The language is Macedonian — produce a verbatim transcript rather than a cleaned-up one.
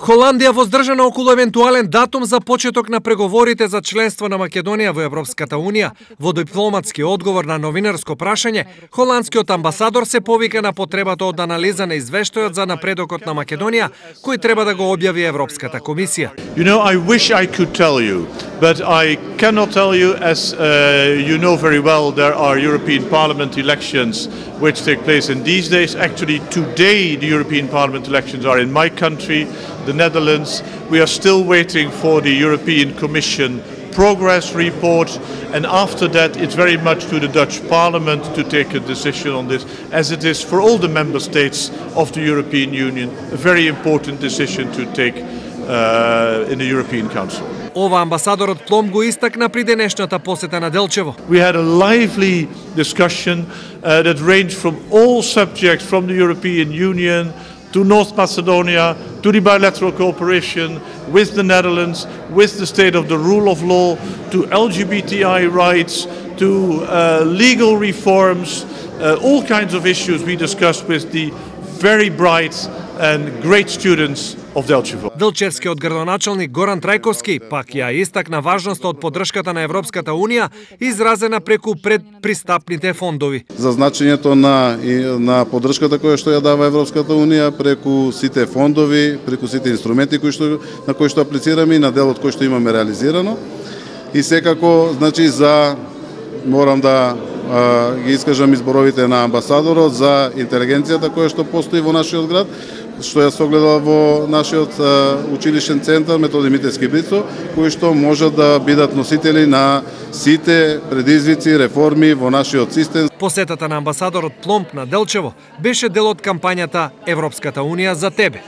Холандија воздржана околу евентуален датум за почеток на преговорите за членство на Македонија во Европската Унија. Во дипломатски одговор на новинарско прашање, холандскиот амбасадор се повика на потребата од анализа на извештајот за напредокот на Македонија, кој треба да го објави Европската комисија. You know, I wish I could tell you, but I cannot tell you, as uh, you know very well, there are European Parliament elections which take place in these days. Actually, today the European Parliament elections are in my country, the Netherlands. We are still waiting for the European Commission progress report, and after that it's very much to the Dutch Parliament to take a decision on this, as it is for all the member states of the European Union, a very important decision to take uh, in the European Council. Ова амбасадорот Плом го истакна при денешната посета на Делчево. We had a lively discussion uh, that ranged from all subjects, from the European Union to North Macedonia, to the bilateral cooperation with the Netherlands, with the state of the rule of law, to L G B T I rights, to uh, legal reforms, uh, all kinds of issues we discussed with the very bright and great students of Delchevo. Делчевскиот градоначалник Горан Трајковски пак ја истакна важноста од поддршката на Европската Унија изразена преку предпристапните фондови. За значењето на на поддршката која што ја дава Европската Унија преку сите фондови, преку сите инструменти кои што на кои што аплицираме и на делот кој што имаме реализирано. И секако, значи, за морам да а, ги искажам изборовите на амбасадорот за интелигенцијата која што постои во нашиот град, што ја согледала во нашиот а, училишен центар Методи Митевски Брицо, кои што можат да бидат носители на сите предизвици, реформи во нашиот систем. Посетата на амбасадорот Пломп на Делчево беше дел од кампањата Европската Унија за тебе.